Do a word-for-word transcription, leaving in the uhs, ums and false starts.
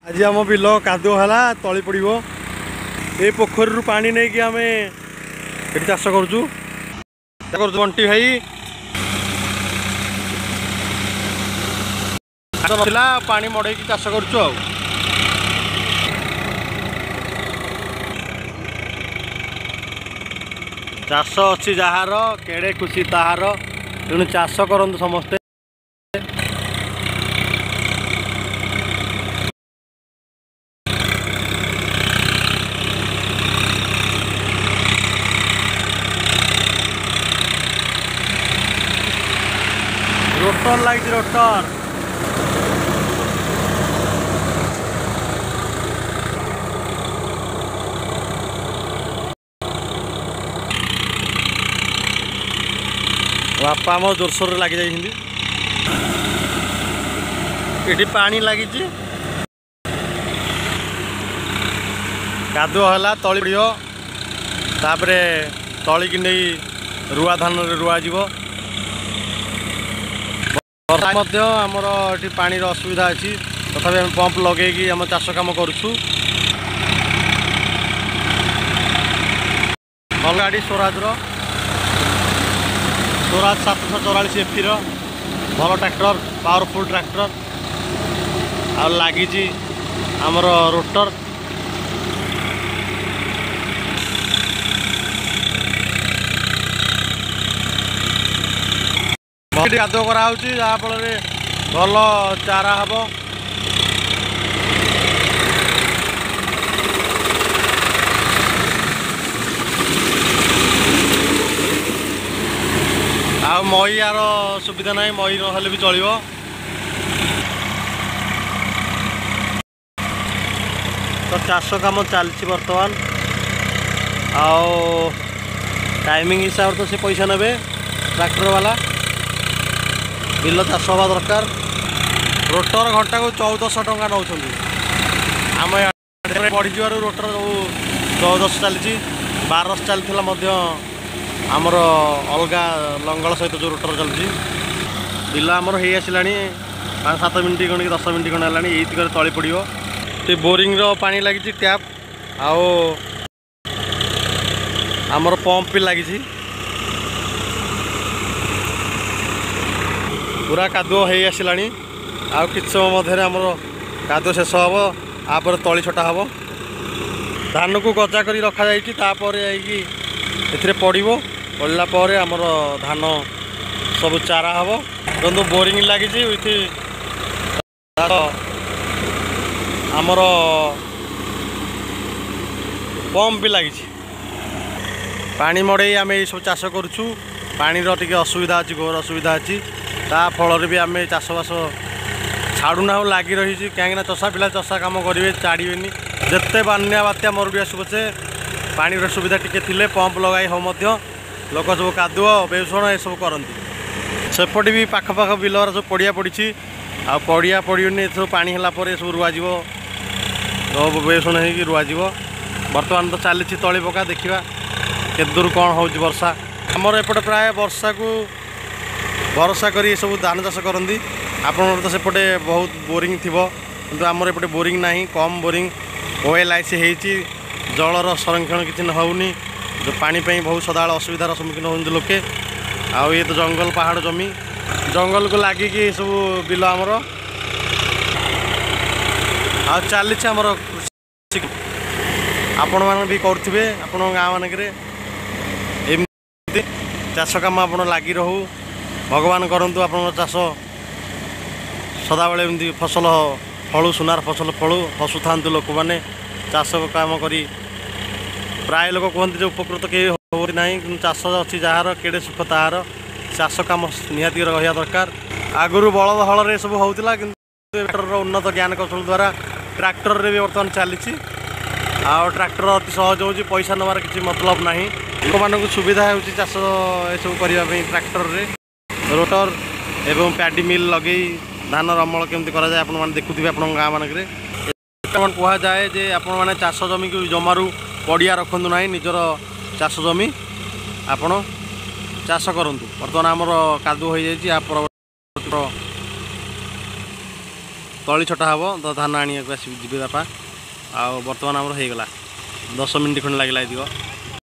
ଆଜି ଆମ ବିଲ କାଦୁଅ ହେଲା, ତଳି ପଡ଼ିବ। ଏ ପୋଖରୀରୁ ପାଣି ନେଇକି ଆମେ ଏଠି ଚାଷ କରୁଛୁ କରୁଛୁ ବଣ୍ଟି ଭାଇ ନଥିଲା, ପାଣି ମଡ଼େଇକି ଚାଷ କରୁଛୁ। ଆଉ ଚାଷ ଅଛି ଯାହାର, କେଡ଼େ ଖୁସି ତାହାର। ତେଣୁ ଚାଷ କରନ୍ତୁ ସମସ୍ତେ। ରୋଟର ଲାଗିଛି, ରୋଟର। ବାପା ଆମ ଜୋରସୋରରେ ଲାଗି ଯାଇଛନ୍ତି। ଏଠି ପାଣି ଲାଗିଛି, କାଦୁଅ ହେଲା, ତଳି ପଡ଼ିବ। ତାପରେ ତଳିକି ନେଇ ରୁଆ ଧାନରେ ରୁଆଯିବ। ବର୍ଷା ମଧ୍ୟ ଆମର ଏଠି ପାଣିର ଅସୁବିଧା ଅଛି, ତଥାପି ଆମେ ପମ୍ପ ଲଗେଇକି ଆମ ଚାଷ କାମ କରୁଛୁ। ଭଲ ଗାଡ଼ି, ସ୍ୱରାଜର ସ୍ୱରାଜ ସାତଶହ ଚଉରାଳିଶ ଏଫିର ଭଲ ଟ୍ରାକ୍ଟର, ପାୱାରଫୁଲ୍ ଟ୍ରାକ୍ଟର। ଆଉ ଲାଗିଛି ଆମର ରୋଟର। କାଦୁଅ କରାହେଉଛି, ଯାହାଫଳରେ ଭଲ ଚାରା ହେବ। ଆଉ ମଇଆର ସୁବିଧା ନାହିଁ, ମଇ ନହେଲେ ବି ଚଳିବ। ତ ଚାଷ କାମ ଚାଲିଛି ବର୍ତ୍ତମାନ। ଆଉ ଟାଇମିଂ ହିସାବରେ ତ ସେ ପଇସା ନେବେ ଟ୍ରାକ୍ଟର ବାଲା। ବିଲ ଚାଷ ହେବା ଦରକାର। ରୋଟର ଘଣ୍ଟାକୁ ଚଉଦଶହ ଟଙ୍କା ନେଉଛନ୍ତି। ଆମ ବଢ଼ିଯିବାରୁ ରୋଟର ସବୁ ଚଉଦଶହ ଚାଲିଛି। ବାରଶହ ଚାଲିଥିଲା ମଧ୍ୟ, ଆମର ଅଲଗା ଲଙ୍ଗଳ ସହିତ ଯେଉଁ ରୋଟର ଚାଲୁଛି। ବିଲ ଆମର ହେଇ ଆସିଲାଣି, ପାଞ୍ଚ ସାତ ମିନିଟ୍ ଖଣ୍ଡେ କି ଦଶ ମିନିଟ୍ ଖଣ୍ଡେ ହେଲାଣି। ଏଇତିକରେ ତଳି ପଡ଼ିବ। ସେ ବୋରିଂର ପାଣି ଲାଗିଛି, ଟ୍ୟାପ୍, ଆଉ ଆମର ପମ୍ପ ବି ଲାଗିଛି। ପୁରା କାଦୁଅ ହେଇ ଆସିଲାଣି। ଆଉ କିଛି ସମୟ ମଧ୍ୟରେ ଆମର କାଦୁଅ ଶେଷ ହେବ, ତାପରେ ତଳି ଛଟା ହେବ। ଧାନକୁ ଗଜା କରି ରଖାଯାଇଛି, ତାପରେ ଯାଇକି ଏଥିରେ ପଡ଼ିବ। ପଡ଼ିଲା ପରେ ଆମର ଧାନ ସବୁ ଚାରା ହେବ। କିନ୍ତୁ ବୋରିଂ ଲାଗିଛି, ୱିଥ୍ ଆମର ପମ୍ପ ବି ଲାଗିଛି। ପାଣି ମଡ଼େଇ ଆମେ ଏଇସବୁ ଚାଷ କରୁଛୁ। ପାଣିର ଟିକେ ଅସୁବିଧା ଅଛି, ଘୋର ଅସୁବିଧା ଅଛି। ତା ଫଳରେ ବି ଆମେ ଚାଷବାସ ଛାଡ଼ୁନାହୁଁ, ଲାଗି ରହିଛି। କାହିଁକିନା ଚଷା ପିଲା ଚଷା କାମ କରିବେ, ଛାଡ଼ିବେନି। ଯେତେ ବନ୍ୟା ବାତ୍ୟା ମରୁଡ଼ି ଆସୁ ପଛେ, ପାଣିର ସୁବିଧା ଟିକେ ଥିଲେ ପମ୍ପ ଲଗାଇ ହେଉ ମଧ୍ୟ ଲୋକ ସବୁ କାଦୁଅ ବେଉଷଣ ଏସବୁ କରନ୍ତି। ସେପଟେ ବି ପାଖ ପାଖ ବିଲର ସବୁ ପଡ଼ିଆ ପଡ଼ିଛି। ଆଉ ପଡ଼ିଆ ପଡ଼ିବନି, ଏସବୁ ପାଣି ହେଲା ପରେ ସବୁ ରୁଆଯିବ, ସବୁ ବେଉଷଣ ହେଇକି ରୁଆଯିବ। ବର୍ତ୍ତମାନ ତ ଚାଲିଛି ତଳି ପକା। ଦେଖିବା କେତେ ଦୂର କ'ଣ ହେଉଛି ବର୍ଷା। ଆମର ଏପଟେ ପ୍ରାୟ ବର୍ଷାକୁ ଭରସା କରି ଏସବୁ ଧାନ ଚାଷ କରନ୍ତି। ଆପଣଙ୍କର ତ ସେପଟେ ବହୁତ ବୋରିଂ ଥିବ, କିନ୍ତୁ ଆମର ଏପଟେ ବୋରିଂ ନାହିଁ, କମ୍ ବୋରିଂ। ଓ ଏଲ୍ I C ହେଇଛି, ଜଳର ସଂରକ୍ଷଣ କିଛି ହେଉନି। ପାଣି ପାଇଁ ବହୁତ ସଦାବେଳେ ଅସୁବିଧାର ସମ୍ମୁଖୀନ ହେଉଛନ୍ତି ଲୋକେ। ଆଉ ଇଏ ତ ଜଙ୍ଗଲ ପାହାଡ଼ ଜମି, ଜଙ୍ଗଲକୁ ଲାଗିକି ଏସବୁ ବିଲ ଆମର। ଆଉ ଚାଲିଛି ଆମର କୃଷି। ଆପଣମାନେ ବି କରୁଥିବେ ଆପଣଙ୍କ ଗାଁ ମାନଙ୍କରେ ଏମିତି ଚାଷ କାମ। ଆପଣ ଲାଗି ରହୁ, ଭଗବାନ କରନ୍ତୁ ଆପଣଙ୍କ ଚାଷ ସଦାବେଳେ ଏମିତି ଫସଲ ଫଳୁ, ସୁନାର ଫସଲ ଫଳୁ, ହସୁଥାନ୍ତୁ ଲୋକମାନେ ଚାଷ କାମ କରି। ପ୍ରାୟ ଲୋକ କୁହନ୍ତି ଯେ ଉପକୃତ କେହି ହେଉ ନାହିଁ, କିନ୍ତୁ ଚାଷ ଅଛି ଯାହାର, କେଡ଼େ ସୁଖ ତାହାର। ଚାଷ କାମ ନିହାତି ରହିବା ଦରକାର। ଆଗରୁ ବଳଦ ହଳରେ ସବୁ ହେଉଥିଲା, କିନ୍ତୁ ଟ୍ରାକ୍ଟରର ଉନ୍ନତ ଜ୍ଞାନ କୌଶଳ ଦ୍ୱାରା ଟ୍ରାକ୍ଟରରେ ବି ବର୍ତ୍ତମାନ ଚାଲିଛି। ଆଉ ଟ୍ରାକ୍ଟର ଅତି ସହଜ ହେଉଛି, ପଇସା ନେବାର କିଛି ମତଲବ ନାହିଁ। ଲୋକମାନଙ୍କୁ ସୁବିଧା ହେଉଛି ଚାଷ ଏସବୁ କରିବା ପାଇଁ ଟ୍ରାକ୍ଟରରେ। ରୋଟର ଏବଂ ପ୍ୟାଡି ମିଲ୍ ଲଗେଇ ଧାନର ଅମଳ କେମିତି କରାଯାଏ ଆପଣମାନେ ଦେଖୁଥିବେ ଆପଣଙ୍କ ଗାଁ ମାନଙ୍କରେ। କୁହାଯାଏ ଯେ ଆପଣମାନେ ଚାଷ ଜମିକୁ ଜମାରୁ ପଡ଼ିଆ ରଖନ୍ତୁ ନାହିଁ, ନିଜର ଚାଷ ଜମି ଆପଣ ଚାଷ କରନ୍ତୁ। ବର୍ତ୍ତମାନ ଆମର କାଦୁଅ ହୋଇଯାଇଛି। ଆ ପରବର୍ତ୍ତୀ ତଳି ଛଟା ହେବ ତ ଧାନ ଆଣିବାକୁ ଆସିବି ଯିବେ ବାପା। ଆଉ ବର୍ତ୍ତମାନ ଆମର ହେଇଗଲା, ଦଶ ମିନିଟ୍ ଖଣ୍ଡେ ଲାଗିଲା ଏତିକ।